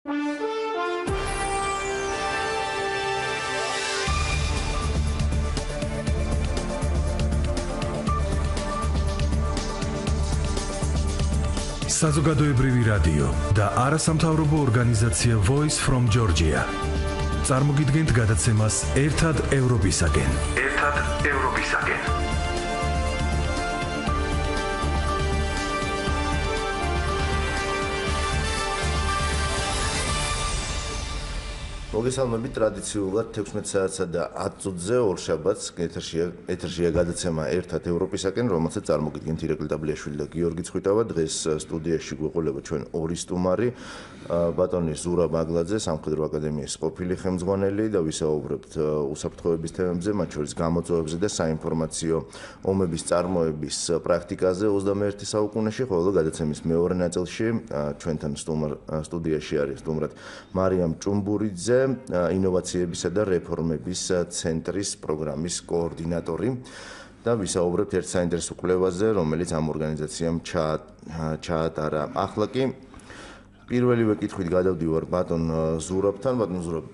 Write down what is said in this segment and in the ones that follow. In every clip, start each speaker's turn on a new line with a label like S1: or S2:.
S1: საზოგადოებრივი რადიო და არასამთავრობო ორგანიზაცია Voice from Georgia. წარმოგიდგენთ გადაცემას ერთად ევროპისაკენ.
S2: მოგესალმებით ტრადიციულად 16 საათსა და 10 წუთზე ორშაბათს ეთერშია გადაცემა ერთად ევროპისაკენ, რომელსაც წარმოგიდგენთ ირაკლი დაბლიაშვილი და გიორგი ცხვიტავა. დღეს სტუდიაში გვეყოლება ჩვენ ორი სტუმარი, ბატონი ზურა ბაგლაძე, სამხედრო აკადემიის ყოფილი ხელმძღვანელი და ვისაუბრებთ უსაფრთხოების თემებზე, მათ შორის გამოწვევებზე და საინფორმაციო ომების წარმოების პრაქტიკაზე 21 საუკუნეში, ხოლო გადაცემის მეორე ნაწილში ჩვენთან სტუდიაში არის სტუმრად მარიამ ჭუმბურიძე, ინოვაციებისა და რეფორმების ცენტრის პროგრამის კოორდინატორი და ვისაუბრებთ ერთ საინტერესო კვლევაზე, რომელიც ამ ორგანიზაციამ ჩაატარა. ახლა კი პირველივე კითხვით გადავდივარ ბატონ ზურაბთან. ბატონ ზურაბ,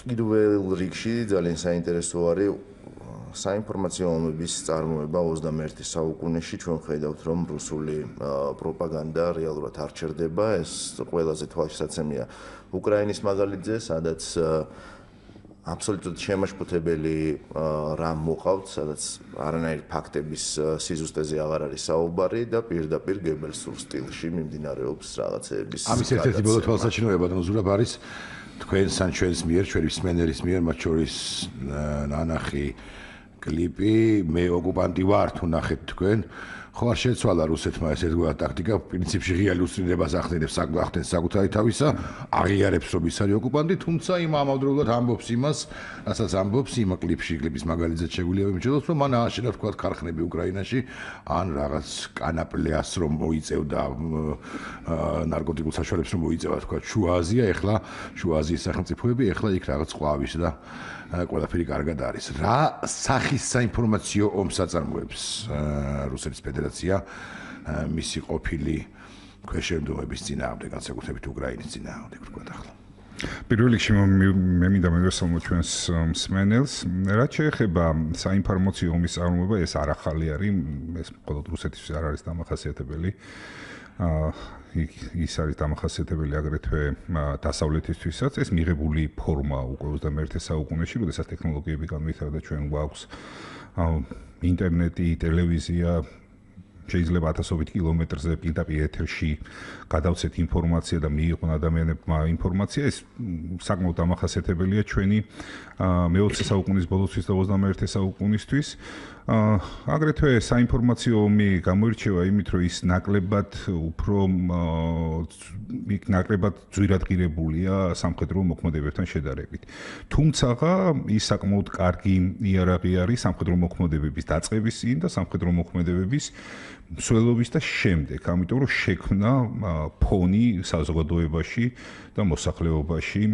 S2: პირველ რიგში ძალიან საინტერესო არის საინფორმაციო ომების წარმოება 21 საუკუნეში. ჩვენ ხედავთ, რომ რუსული პროპაგანდა რეალურად არ ჩერდება. ეს ყველაზე თვალშისაცემია უკრაინის მაგალითზე, სადაც აბსოლუტურად შემაშფოთებელი რამ მოყავთ, სადაც არანაირი ფაქტების სიზუსტეზე აღარ არის საუბარი და პირდაპირ გებელსურ სტილში მიმდინარეობს რაღაცეების.
S3: ამის ერთ-ერთი ბოლო თვალსაჩინოება ბატონ ზურაბ არის თქვენს ან ჩვენს მიერ, ჩვენი მსმენელის მიერ, მათ შორის ნანახი კლიპი მე ოკუპანტი ვარ თუ ნახეთ თქვენ. ხო არ შეცვალა რუსეთმა ეს ერთგვარი ტაქტიკა, პრინციპში ღია უსწრინებას ახდენებს საკუთარი თავისა, აღიარებს რომ ის არის ოკუპანტი, თუმცა იმ ამავდროულად ამბობს იმას, რასაც ამბობს იმ კლიპის მაგალითზე შეგვიძლია ვიმჯეროთ, რომ მან ააშენა თქვა ქარხნები უკრაინაში, ან რაღაც კანაპლეას რომ მოიწევდა ნარკოტიკულ საშუალებს რომ მოიწევა თქვა შუა აზია, ეხლა შუა აზიის სახელმწიფოები, ეხლა იქ რაღაც ყვავის და ყველაფერი კარგად არის. რა სახის საინფორმაციო ომს აწარმოებს რუსეთის ფედერაცია მისი ყოფილი ქვეშევრდომების წინააღმდეგ, განსაკუთრებით უკრაინის წინააღმდეგ, ვთქვათ ახლა.
S4: პირველ რიგში მე მინდა მევესალმო ჩვენს მსმენელს. რაც შეეხება საინფორმაციო ომის წარმოება, ეს არ ახალი არის, ეს მხოლოდ რუსეთისთვის არ არის დამახასიათებელი. ის არის დამახასიათებელი აგრეთვე დასავლეთისთვისაც. ეს მიღებული ფორმა უკვე 21 საუკუნეში, როდესაც ტექნოლოგიები განვითარდა, ჩვენ გვაქვს ინტერნეტი, ტელევიზია, შეიძლება ათასობით კილომეტრზე პირდაპირ ეთერში გადავცეთ ინფორმაცია და მიიღონ ადამიანებმა ინფორმაცია. ეს საკმაოდ დამახასიათებელია ჩვენი მე-20 საუკუნის ბოლოსთვის და 21 საუკუნისთვის. აგრეთვე საინფორმაციო ომი გამოირჩევა იმით, რომ ის ნაკლებად ძვირადღირებულია სამხედრო მოქმედებებთან შედარებით. თუმცა ის საკმაოდ კარგი იარაღი არის სამხედრო მოქმედებების დაწყების წინ და სამხედრო მოქმედებების მსვლელობის და შემდეგ, ამიტომ რომ შექმნა ფონი საზოგადოებაში და მოსახლეობაში,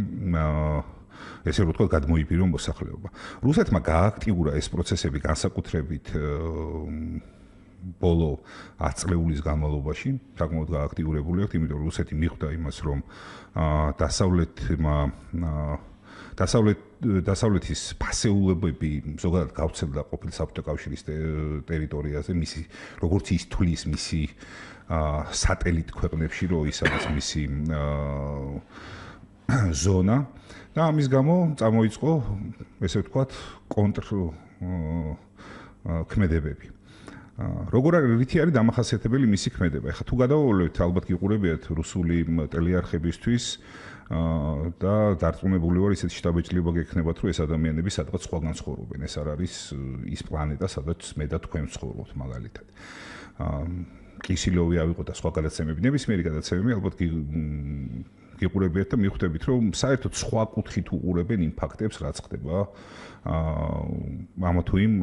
S4: ესე რომ ვთქვათ, გადმოიბირო მოსახლეობა. რუსეთმა გააქტიურა ეს პროცესები განსაკუთრებით ბოლო 10 წლეულის განმავლობაში, საკმაოდ გააქტიურებული აქვს, იმიტომ რომ რუსეთი მიხვდა იმას, რომ დასავლეთის ფასეულებები ზოგადად გავრცელდა ყოფილი საბჭოთა კავშირის ტერიტორიაზე, მისი როგორც ის თვლის მისი სატელიტ ქვეყნებში, რომ ის არის მისი ზონა და ამის გამო წამოიწყო, ესე ვთქვათ, ქმედებები. როგორ რითი არის დამახასიათებელი მისი ქმედება? ეხლა თუ გადავავლევთ, ალბათ გიყურებიათ რუსული ტელეარხებისთვის და დარწმუნებული ვარ, ისეთი შტაბეჭდილება გექნებათ, რომ ეს ადამიანები სადღაც სხვაგან ცხოვრობენ. ეს არ არის ის პლანეტა, სადაც მე და თქვენ ვცხოვრობთ მაგალითად. კისილოვი ავიღოთ და სხვა გადაცემები, ნებისმიერი გადაცემები ალბათ გიყურებიათ და მიხვდებით, რომ საერთოდ სხვა კუთხით უყურებენ იმ ფაქტებს, რაც ხდება ამა თუ იმ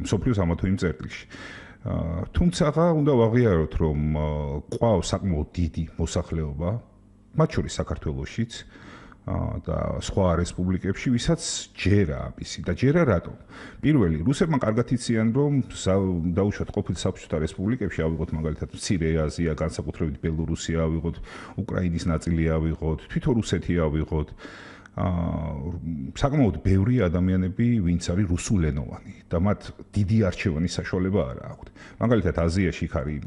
S4: მსოფლიოს ამა თუ იმ წერტილში. თუმცა უნდა ვაღიაროთ, რომ ყავს საკმაოდ დიდი მოსახლეობა, მათ შორის საქართველოშიც, და სხვა რესპუბლიკებში, ვისაც ჯერა ამისი და ჯერა რატომ? პირველი, რუსებმა კარგად იციან, რომ დაუშვათ ყოფილ საბჭოთა რესპუბლიკებში ავიღოთ მაგალითად მცირე აზია, განსაკუთრებით ბელორუსია ავიღოთ, უკრაინის ნაწილი ავიღოთ, თვითონ რუსეთი ავიღოთ. საკმაოდ ბევრი ადამიანები, ვინც არის რუსულენოვანი და მათ დიდი არჩევანის საშუალება არ აქვთ. მაგალითად აზიაში იქ არის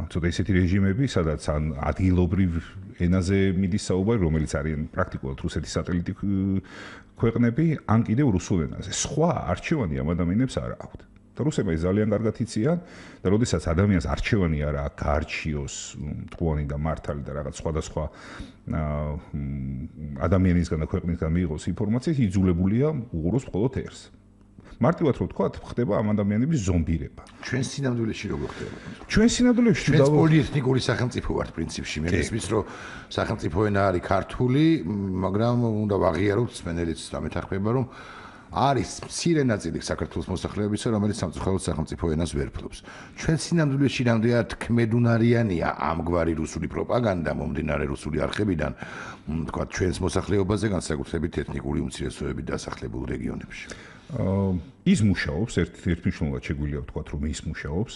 S4: ცოტა ისეთი რეჟიმები, სადაც ან ადგილობრივ ენაზე მიდის საუბარი, რომელიც არიან პრაქტიკულად რუსეთის სატელიტი ქვეყნები, ან კიდევ რუსულ ენაზე. სხვა არჩევანი ამ ადამიანებს არ აქვთ. და რუსებმა ეს ძალიან კარგად იციან და როდესაც ადამიანს არჩევანი არ აქვს, გაარჩიოს მტყუანი და მართალი და რაღაც სხვადასხვა ადამიანისგან და ქვეყნისგან მიიღოს ინფორმაცია, იძულებულია უყუროს მხოლოდ ერთს. მარტივად რო ვთქვა, ხდება ამ ადამიანების ზომბირება.
S3: ჩვენ სინამდვილეში როგორ ხდება?
S4: ჩვენ სინამდვილეში
S3: ჩვენ პოლიეთნიკური სახელმწიფო ვართ პრინციპში. მე მისმის რომ სახელმწიფო ენა არის ქართული, მაგრამ უნდა ვაღიაროთ სპენელიც და მეთანხმება რომ არის მცირე ნაწილი საქართველოს მოსახლეობისა, რომელიც სამწუხაროდ სახელმწიფო ენას ვერ ფლობს. ჩვენ სინამდვილეში რამდენად ქმედუნარიანია ამგვარი რუსული პროპაგანდა მომდინარე რუსული არხებიდან, თქვა ჩვენს მოსახლეობაზე, განსაკუთრებით ეთნიკური უმცირესობები დასახლებულ რეგიონებში.
S4: ის მუშაობს, ერთმნიშვნელოვნად შეგვიძლია ვთქვათ, რომ ის მუშაობს.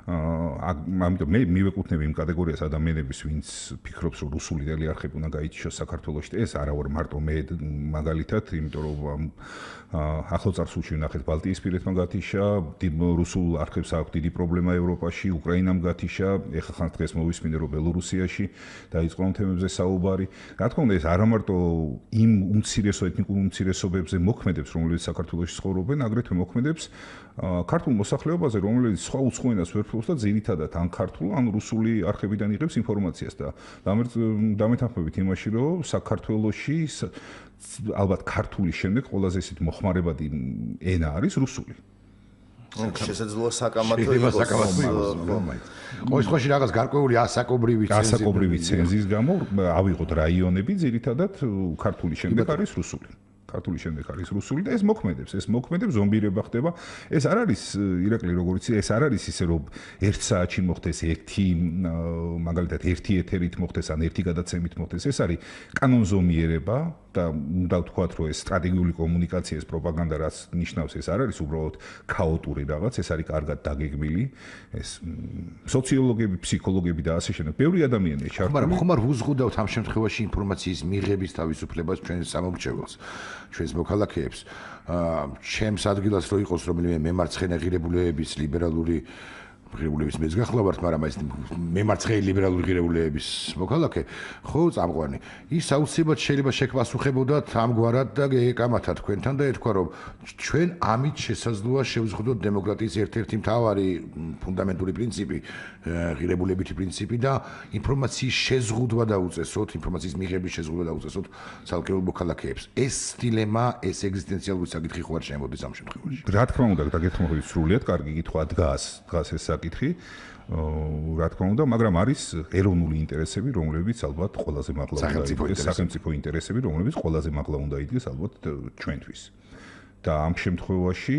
S4: ამიტომ მე მივეკუთვნები იმ კატეგორიას ადამიანების, ვინც ფიქრობს, რომ რუსული არხები უნდა გაიჩიოს საქართველოში. ეს არა ვარ მარტო მე მაგალითად, იმიტომ რომ ახლო წარსულში ვნახეთ ბალტიისპირეთმა გათიშა, რუსულ არხებს აქვს დიდი პრობლემა ევროპაში, უკრაინამ გათიშა, ეხლა ხან დღეს მოვისმინე რომ ბელორუსიაში დაიწყო ამ თემებზე საუბარი. რა თქმა უნდა, ეს არა მარტო იმ ეთნიკურ უმცირესობებზე მოქმედებს, რომლებიც საქართველოში ცხოვრობენ, აგრეთვე მოქმედებს ქართულ მოსახლეობაზე, რომელიც სხვა უცხო ენას ვერ ფლობს და ძირითადად ან ქართულ, ან რუსული არხებიდან იღებს ინფორმაციას და დამეთანხმებით იმაში, რომ საქართველოში ალბათ ქართულის შემდეგ ყველაზე ისეთი მოხმარებადი ენა არის რუსული.
S2: შესაძლოა საკამათო იყოს.
S3: ყოველ შემთხვევაში რაღაც გარკვეული ასაკობრივი
S4: ცენზის გამო ავიღოთ რაიონები, ძირითადად ქართულის შემდეგ არის რუსული. ქართული შემდეგ არის რუსული და ეს მოქმედებს, ზომბირება ხდება. ეს არ არის ირაკლი როგორც ეს არ არის ისე რომ 1 საათში მოხდეს მაგალითად ერთი ეთერით მოხდეს ან ერთი გადაცემით მოხდეს. ეს არის კანონზომიერება და უნდა ვთქვათ, რომ ეს სტრატეგიული კომუნიკაცია, ეს პროპაგანდა რაც ნიშნავს, ეს არ არის უბრალოდ ქაოტური რაღაც, ეს არის კარგად დაგეგმილი. ეს სოციოლოგები, ფსიქოლოგები და ასე შემდეგ, ბევრი ადამიანია ჩართული.
S3: მაგრამ ხომ არ ვუზღუდავთ ამ შემთხვევაში ინფორმაციის მიღების თავისუფლებას ჩვენ სამომრჩეველს, ჩვენს მოქალაქეებს. ჩემს ადგილას რო იყოს რომელიმე მემარცხენე ღირებულებების ლიბერალური ღირებულების მეც გახლავართ, მაგრამ ეს მემარცხენე ლიბერალური ღირებულების მოქალაქე, ხო, წამყვანი. ის აუცილებლად შეიძლება შეგვასუხებოდათ ამგვარად და ეკამათათ თქვენთან და ეთქვა, რომ ჩვენ ამით შესაძლოა შევზღუდოთ დემოკრატიის ერთ-ერთი მთავარი ფუნდამენტური პრინციპი, ღირებულებითი პრინციპი და ინფორმაციის შეზღუდვა დაუწესოთ, ინფორმაციის მიღების შეზღუდვა დაუწესოთ ცალკეულ მოქალაქეებს. ეს დილემა, ეს ეგზისტენციალური საკითხი ხო არ შემოდის ამ შემთხვევაში.
S4: რა თქმა უნდა, დაგეთმოდი სრულიად კარგი კითხვა დგას ეს საკითხი. რა თქმა უნდა, მაგრამ არის ეროვნული ინტერესები, რომლებიც ალბათ ყველაზე მაღლა უნდა იდგეს, სახელმწიფო ინტერესები, რომლებიც ყველაზე მაღლა უნდა იდგეს ალბათ ჩვენთვის. და ამ შემთხვევაში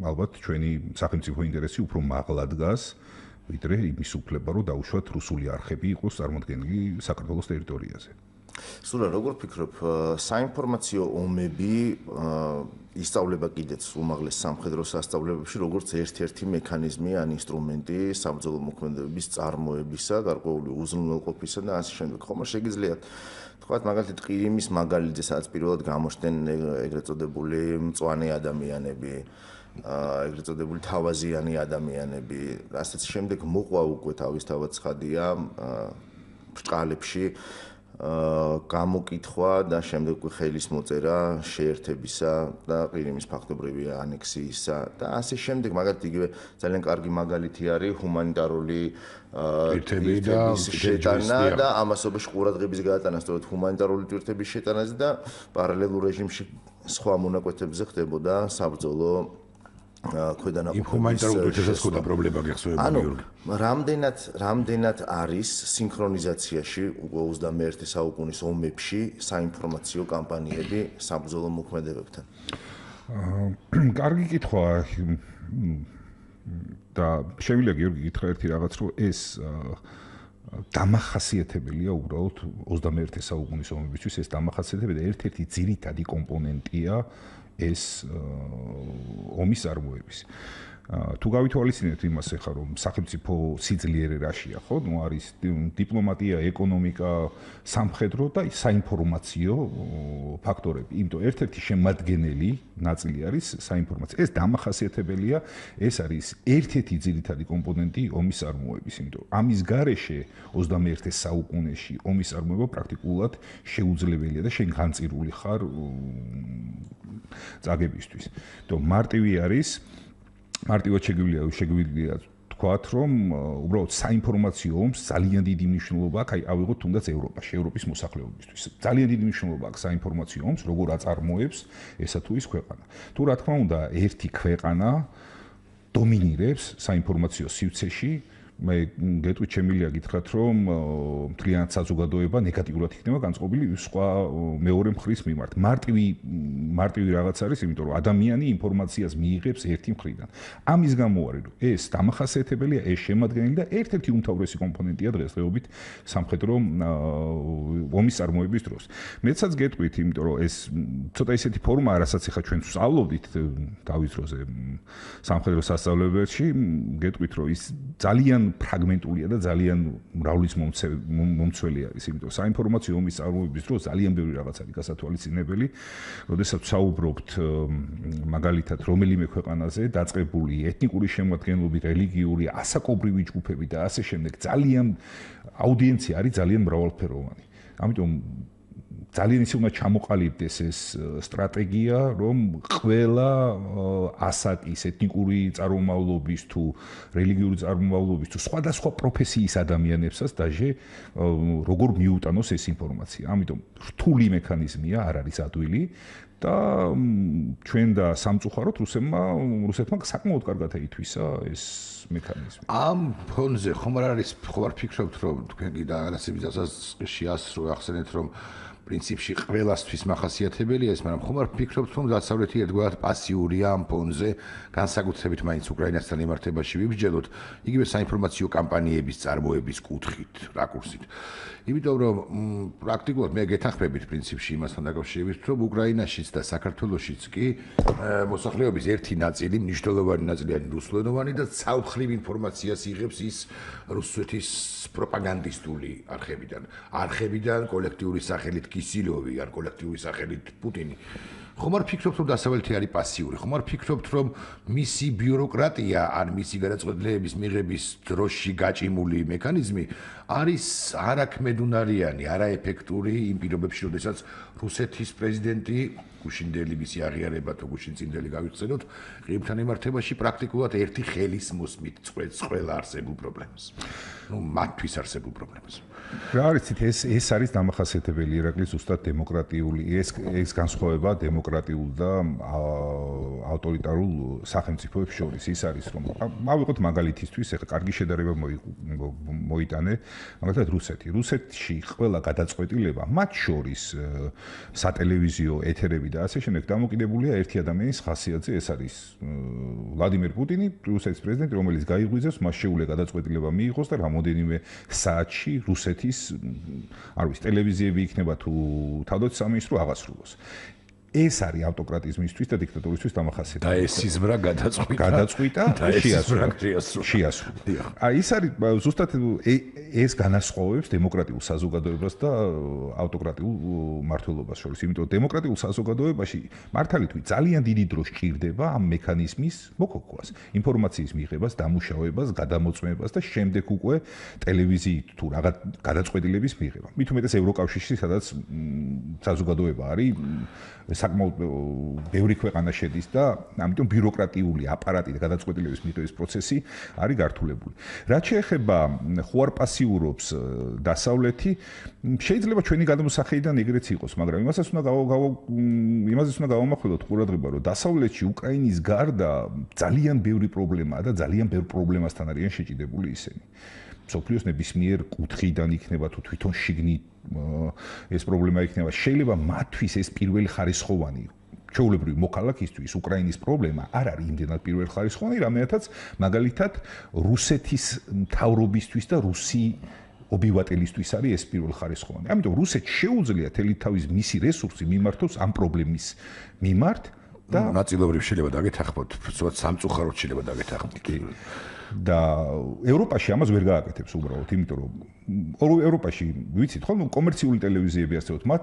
S4: ალბათ ჩვენი სახელმწიფო ინტერესი უფრო მაღლა დგას, ვიდრე იმის უფლება, რომ დაუშვათ რუსული არხები იყოს წარმოდგენილი საქართველოს ტერიტორიაზე.
S2: სულა, როგორ ფიქრობ, საინფორმაციო ომები ისწავლება კიდეც უმაღლეს სამხედრო სასწავლებელში, როგორც ერთ-ერთი მექანიზმი ან ინსტრუმენტი საბრძოლო მოქმედებების წარმოებისა, გარკვეული უზრუნველყოფისა და ასე შემდეგ. ხომ არ შეგიძლიათ თქვათ, მაგალითად, ყირიმის მაგალითზე, სადაც პირველად გამოჩნდნენ ეგრეთ წოდებული მწვანე ადამიანები, ეგრეთ წოდებული თავაზიანი ადამიანები, ასეც შემდეგ მოყვა უკვე თავისთავად ცხადია ბრჭყალებში გამოკითხვა და შემდეგ ხელის მოწერა შეერთებისა და ყირიმის ფაქტობრივი ანექსიისა და ასე შემდეგ. მაგალითად, იგივე ძალიან კარგი მაგალითი არის ჰუმანიტარული ერთების შეტანა და ამასობაში ყურადღების გადატანა სწორედ ჰუმანიტარული თვირთების შეტანაზე და პარალელურ რეჟიმში სხვა მონაკვეთებზე ხდებოდა საბრძოლო ქვედანაყოფების
S3: ჰუმანიტარული თვირთებსა პრობლემა გახსოვება გიორგი.
S2: რამდენად არის სინქრონიზაციაში 21 საუკუნის ომებში საინფორმაციო კამპანიები საბრძოლო მოქმედებებთან?
S4: კარგი კითხვაა და შეგვიძლია გიორგი გითხრა ერთი რაღაც, რომ ეს დამახასიათებელია უბრალოდ 21 საუკუნის ომებისთვის ეს დამახასიათებელი ერთ-ერთი ძირითადი კომპონენტია ეს ომის წარმოების. თუ გავითვალისწინებთ იმას ახლა რომ სახელმწიფო სიძლიერე რაშია ხო ნუ არის დიპლომატია, ეკონომიკა, სამხედრო და საინფორმაციო ფაქტორები. იმიტომ ერთ-ერთი შემადგენელი ნაწილი არის საინფორმაციო. ეს დამახასიათებელია, ეს არის ერთ-ერთი ძირითადი კომპონენტი ომის წარმოების. იმიტომ ამის გარეშე 21 საუკუნეში ომის წარმოება პრაქტიკულად შეუძლებელია და შენ განწირული ხარ წაგებისთვის. იმიტომ მარტივი არის მარტივად შეგვიძლია თქვათ, რომ უბრალოდ საინფორმაციო ომს ძალიან დიდი მნიშვნელობა აქვს, ავიღოთ თუნდაც ევროპაში, ევროპის მოსახლეობისთვის. ძალიან დიდი მნიშვნელობა აქვს საინფორმაციო ომს, როგორ აწარმოებს ესა თუ ის ქვეყანა. თუ რა თქმა უნდა, ერთი ქვეყანა დომინირებს საინფორმაციო სივრცეში, მე გეტყვით შემიძლია გითხრათ, რომ მთლიანად საზოგადოება ნეგატიურად იქნება განწყობილი სხვა მეორე მხრის მიმართ. მარტივი რაღაც არის, იმიტომ რომ ადამიანი ინფორმაციას მიიღებს ერთი მხრიდან. ამის გამო არის, რომ ეს დამახასიათებელია, ეს შემადგენელი და ერთ-ერთი უმთავრესი კომპონენტია დღესდღეობით სამხედრო ომის წარმოების დროს. მეცაც გეტყვით, იმიტომ რომ ეს ცოტა ისეთი ფორმა, რასაც ახლა ჩვენ ვსწავლობდით დავის დროზე სამხედრო სასწავლებელში, გეტყვით, რომ ის ძალიან ფრაგმენტულია და ძალიან მრავლის მომცველი არის, იმიტომ საინფორმაციო ომის წარმოების დროს ძალიან ბევრი რაღაც არის გასათვალისწინებელი, როდესაც ვსაუბრობთ მაგალითად რომელიმე ქვეყანაზე დაწყებული ეთნიკური შემადგენლობით, რელიგიური, ასაკობრივი ჯგუფები და ასე შემდეგ, ძალიან აუდიენცია არის ძალიან მრავალფეროვანი. ამიტომ ძალიან ისე უნდა ჩამოყალიბდეს ეს სტრატეგია, რომ ყველა ასაკის, ეთნიკური წარმომავლობის თუ რელიგიური წარმომავლობის თუ სხვადასხვა პროფესიის ადამიანებსაც დაჟე როგორ მიუტანოს ეს ინფორმაცია. ამიტომ რთული მექანიზმია, არ არის ადვილი და ჩვენ და სამწუხაროდ რუსეთმა საკმაოდ კარგად აითვისა ეს მექანიზმი.
S3: ამ ფონზე ხომ არ ფიქრობთ, რომ თქვენ კიდე რაღაცებისაც შეასრულე ახსენეთ, რომ პრინციპში ყველასთვის მახასიათებელია ეს, მაგრამ ხომ არ ფიქრობთ, რომ დასავლეთი ერთგვარად პასიურია ამ ფონზე, განსაკუთრებით მაინც უკრაინასთან ემართებაში ვიბრძელოთ, იგივე საინფორმაციო კამპანიების წარმოების კუთხით, რაკურსით. იმიტომ რომ პრაქტიკულად მე გეთანხმებით პრინციპში იმასთან დაკავშირებით, რომ უკრაინაშიც და საქართველოშიც კი მოსახლეობის ერთი ნაწილი, მნიშვნელოვანი ნაწილი არის რუსულენოვანი და ცალმხრივ ინფორმაციას იღებს ის რუსეთის პროპაგანდისტული არხებიდან, კოლექტიური სახელით კისილოვი ან კოლექტიური სახელით პუტინი. ხომ არ ფიქრობთ, რომ დასავლეთი არის პასიური? ხომ არ ფიქრობთ, რომ მისი ბიუროკრატია ან მისი გადაწყვეტილების მიღების დროში გაჭიმული მექანიზმი არის არაქმედუნარიანი, არაეფექტური იმ პირობებში, როდესაც რუსეთის პრეზიდენტი გუშინდელი მისი აღიარება თუ გუშინწინდელი გავიხსენოთ, ყირიმთან ემართებაში პრაქტიკულად ერთი ხელის მოსმით წყვეტს ყველა არსებულ პრობლემას. მათთვის არსებულ პრობლემას.
S4: რა არიცით, ეს არის დამახასიათებელი ირაკლი ზუსტად დემოკრატიული, ეს განსხვავება დემოკრატიულ და ავტორიტარულ სახელმწიფოებს შორის. ის არის, რომ ავიღოთ მაგალითისთვის, ეხლა კარგი შედარება მოიტანე, მაგალითად რუსეთში ყველა გადაწყვეტილება, მათ შორის სატელევიზიო ეთერები და ასე შემდეგ დამოკიდებულია ერთი ადამიანის ხასიათზე, ეს არის ვლადიმერ პუტინი, რუსეთის პრეზიდენტი, რომელიც გაიღვიძებს, მას შეუძლია გადაწყვეტილება მიიღოს და რამოდენიმე საათში რუსეთის არ ვიცი, ტელევიზიები იქნება თუ თავდაცვის სამინისტრო აღასრულოს. ეს არის ავტოკრატიზმისთვის და დიქტატურისთვის დამახასიათებელი.
S3: და ეს სიზმრა გადაწყვიტა
S4: და შეასრულა. ის არის ზუსტად ეს განასხვავებს დემოკრატიულ საზოგადოებას და ავტოკრატიულ მმართველობას შორის. იმიტომ დემოკრატიულ საზოგადოებაში მართალითვით ძალიან დიდი დრო სჭირდება ამ მექანიზმის მოქოქვას, ინფორმაციის მიღებას, დამუშავებას, გადამოწმებას და შემდეგ უკვე ტელევიზიით თუ რაღაც გადაწყვეტილების მიღება. მით უმეტეს ევროკავშირში, სადაც საზოგადოება არის საკმაოდ ბევრი ქვეყანა შედის და ამიტომ ბიუროკრატიული აპარატი და გადაწყვეტილების მიღების პროცესი არის გართულებული. რაც შეეხება ხო არ პასიურობს დასავლეთი, შეიძლება ჩვენი გადმოსახედიდან ეგრეც იყოს, მაგრამ იმასაც უნდა გავამახვილოთ ყურადღება, რომ დასავლეთში უკრაინის გარდა ძალიან ბევრი პრობლემაა და ძალიან ბევრ პრობლემასთან არიან შეჭიდებული ისინი. სოფლიოს ნებისმიერ კუთხიდან იქნება თუ თვითონ შიგნით ეს პრობლემა იქნება. შეიძლება მათთვის ეს პირველი ხარისხოვანი ჩვეულებრივი მოქალაქისთვის უკრაინის პრობლემა არ არის იმდენად პირველი ხარისხოვანი, რამეთაც მაგალითად რუსეთის მთავრობისთვის და ობივატელისთვის არის ეს პირველხარისხოვანი. ამიტომ რუსეთს შეუძლია თელი თავის მისი რესურსი მიმართოს ამ პრობლემის მიმართ და
S3: ნაწილობრივ შეიძლება დაგეთანხმოთ, სწორად სამწუხაროდ შეიძლება დაგეთანხმოთ.
S4: და ევროპაში ამას ვერ გააკეთებს უბრალოდ, იმიტომ რომ ევროპაში ვიცით ხო, კომერციული ტელევიზიები ასეოთ, მათ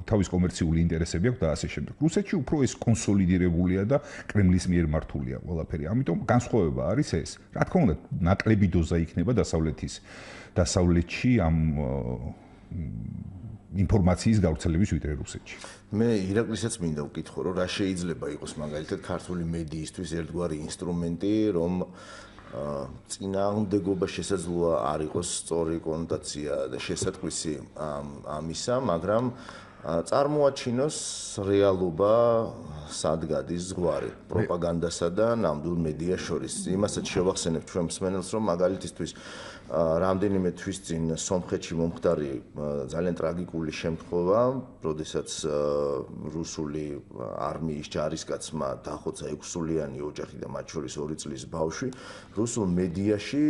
S4: თავის კომერციული ინტერესები აქვს და ასე შემდეგ. რუსეთში უფრო ეს კონსოლიდირებულია და კრემლის მიერ მართულია ყველაფერი. ამიტომ განსხვავება არის ეს. რა თქმა უნდა, ნაკლები დოზა იქნება დასავლეთში ამ ინფორმაციის გავრცელების ვიდრე რუსეთში.
S2: მე ირაკლისეც მინდა ვკითხო, რომ რა შეიძლება იყოს მაგალითად ქართული მედიისთვის ერთგვარი ინსტრუმენტი, რომ წინააღმდეგობა შესაძლოა არ იყოს სწორი კონოტაცია და შესატყვისი ამისა, მაგრამ წარმოაჩინოს რეალობა სად გადის ზღვარი პროპაგანდასა და ნამდვილ მედიას შორის. იმასაც შევახსენებ ჩვენ მსმენელს, რომ მაგალითისთვის რამდენიმე თვის წინ სომხეთში მომხდარი ძალიან ტრაგიკული შემთხვევა, როდესაც რუსული არმიის ჯარისკაცმა დახოცა 6-სულიანი ოჯახი და მათ შორის 2 წლის ბავშვი, რუსულ მედიაში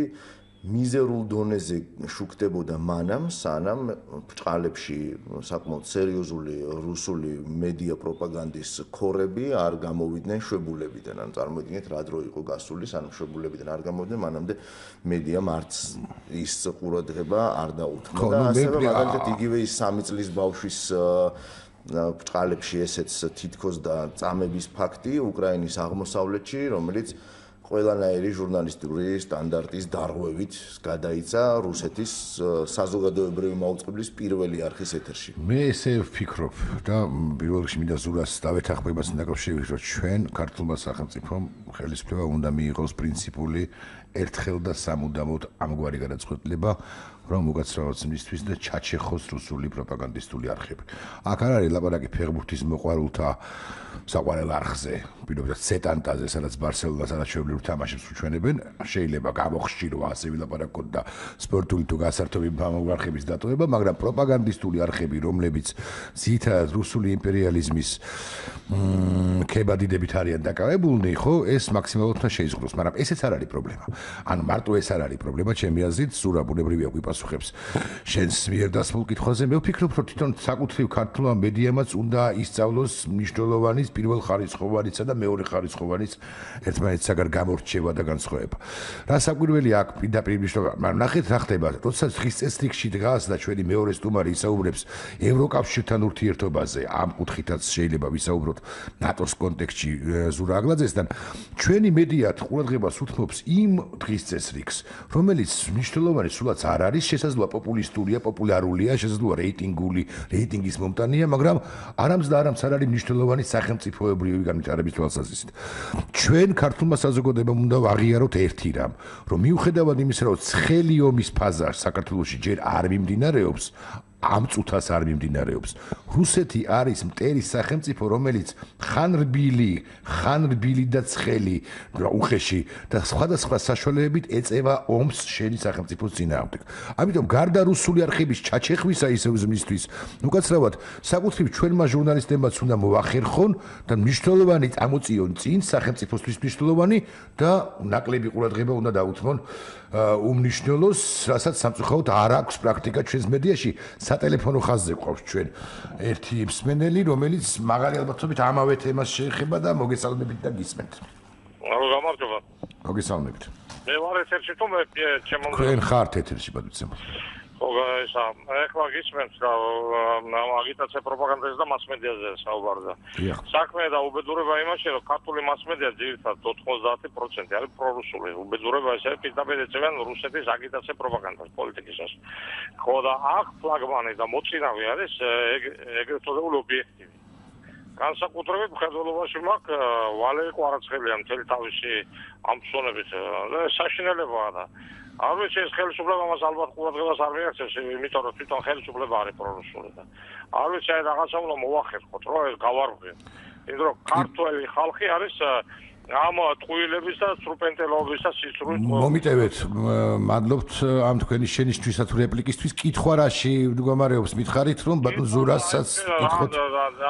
S2: მიზერულ დონეზე შუქდებოდა მანამ, სანამ ბრჭყალებში საკმაოდ სერიოზული რუსული მედია პროპაგანდის ქორები არ გამოვიდნენ შვებულებიდან. ანუ წარმოიდგინეთ, რა დრო იყო გასული, სანამ შვებულებიდან არ გამოვიდნენ, მანამდე მედიამ არც ის ყურადღება არ დაუთმო და ასევე მაგალითად იგივე ის 3 წლის ბავშვის ბრჭყალებში ესეც თითქოს და წამების ფაქტი უკრაინის აღმოსავლეთში, რომელიც ყველანაირი ჟურნალისტური სტანდარტის დარღვევით გადაიცა რუსეთის საზოგადოებრივი მაუწყებლის პირველი არხის ეთერში.
S3: მე ესე ვფიქრობ და პირველ რიგში მინდა ზურას დავეთანხმებას დაკავშირებით, რომ ჩვენ ქართულმა სახელმწიფომ ხელისუფლება უნდა მიიღოს პრინციპული ერთხელ და სამუდამოდ ამგვარი გადაწყვეტილება, რომ უკაცრავად მისთვის და ჩაჩეხოს რუსული პროპაგანდისტული არხები. აქ არ არის ლაპარაკი ფეხბურთის მოყვარულთა საყვარელ არხზე, პირობითად სეტანტაზე, სადაც ბარსელონას არაჩვეულებრივ თამაშებს უჩვენებენ, შეიძლება გამოხშირვა ასე ვილაპარაკოთ და სპორტული თუ გასართობი არხების დატოვება, მაგრამ პროპაგანდისტული არხები, რომლებიც ძირითადად რუსული იმპერიალიზმის ქებადიდებით არიან დაკავებულნი, ხო, ეს მაქსიმალურად უნდა შეიზღვროს, მაგრამ ესეც არ არის პრობლემა. ანუ მარტო ეს არ არის პრობლემა, ჩემი აზრით, ზურა ბუნებრივია გვიპასუხებს შენს მიერ დასმულ კითხვაზე. მე ვფიქრობ, რომ თვითონ საკუთრივ ქართულმა მედიამაც უნდა ისწავლოს მნიშვნელოვანი პირველხარისხოვანისა და მეორეხარისხოვანის ერთმანეთსაგან გამორჩევა და განსხვავება. რა საკვირველი აქ პირდაპირ მნიშვნელობა, მაგრამ ნახეთ რა ხდება, როდესაც ხის წესრიგში დგას და ჩვენი მეორე სტუმარი ისაუბრებს ევროკავშირთან ურთიერთობაზე, ამ კუთხითაც შეიძლება ვისაუბროთ ნატოს კონტექსტში ზურა აგლაძესთან, ჩვენი მედია ყურადღებას უთმობს იმ დღის წესრიგს, რომელიც მნიშვნელოვანი სულაც არ არის, შესაძლოა პოპულისტურია, პოპულარულია, შესაძლოა რეიტინგის მომტანია, მაგრამ არამც და არამც არ არის მნიშვნელოვანი სახელმწიფოებრივი განვითარების თვალსაზრისით. ჩვენ ქართულმა საზოგადოებამ უნდა ვაღიაროთ ერთი რამ, რომ მიუხედავად იმისა, რომ ცხელი ომის ფაზა საქართველოში ჯერ არ მიმდინარეობს, ამ წუთას არ მიმდინარეობს. რუსეთი არის მტერი სახელმწიფო, რომელიც ხანრბილი და ცხელი უხეში და სხვადასხვა საშუალებებით ეწევა ომს შენი სახელმწიფოს წინააღმდეგ. ამიტომ გარდა რუსული არხების ჩაჩეხვისა ისევ მისთვის, უკაცრავად საკუთრივ ჩვენმა ჟურნალისტებმაც უნდა მოახერხონ და მნიშვნელოვანი წამოწიონ წინ სახელმწიფოსთვის მნიშვნელოვანი და ნაკლები ყურადღება უნდა დაუთმონ უმნიშვნელოს, რასაც სამწუხაროდ არ აქვს პრაქტიკა ჩვენს მედიაში. სატელეფონო ხაზზე გვყავს ჩვენ ერთი მსმენელი, რომელიც მაღალი ალბათობით ამავე თემას შეეხება და მოგესალმებით და გისმენთ.
S5: გამარჯობა.
S3: მოგესალმებით.
S5: მე ვარ ეთერში თუ მე ჩემო
S3: თქვენ ხართ ეთერში ბატონო.
S5: ხო, ეხლა გისმენთ და აგიტაცია პროპაგანდაზე და მასმედიაზე საუბარია. საქმე და უბედურება იმაში, რომ ქართული მასმედია ძირითადად 90% არის პრორუსული. უბედურება ესე პირდაპირ ეწევიან რუსეთის აგიტაცია პროპაგანდას პოლიტიკისას. ხო და აქ ფლაგმანი და მოწინავე არის ეგრეთ წოდებული ობიექტივი. განსაკუთრებით მხედველობაში მაქვს ვალერი კვარაცხელია მთელი თავისი ამ ფსონებით და საშინელებაა და არ ვიცი ეს ხელისუფლება მას ალბათ ყურადღებას არ მიაქცევს, იმიტომ რომ თვითონ ხელისუფლება არის პრორუსული და არ ვიცი აი რაღაცა უნდა მოვახერხოთ, რომ ეს გავარღვიო. იმიტომ რომ ქართველი ხალხი არის ამ ტყუილების და სტრუპენტელობის და სისრულის
S3: მომიტევეთ, მადლობთ ამ თქვენი შენიშვნისა თუ რეპლიკისთვის. კითხვა რაში მდგომარეობს, მითხარით რომ ბატონ ზურასაც კითხოთ.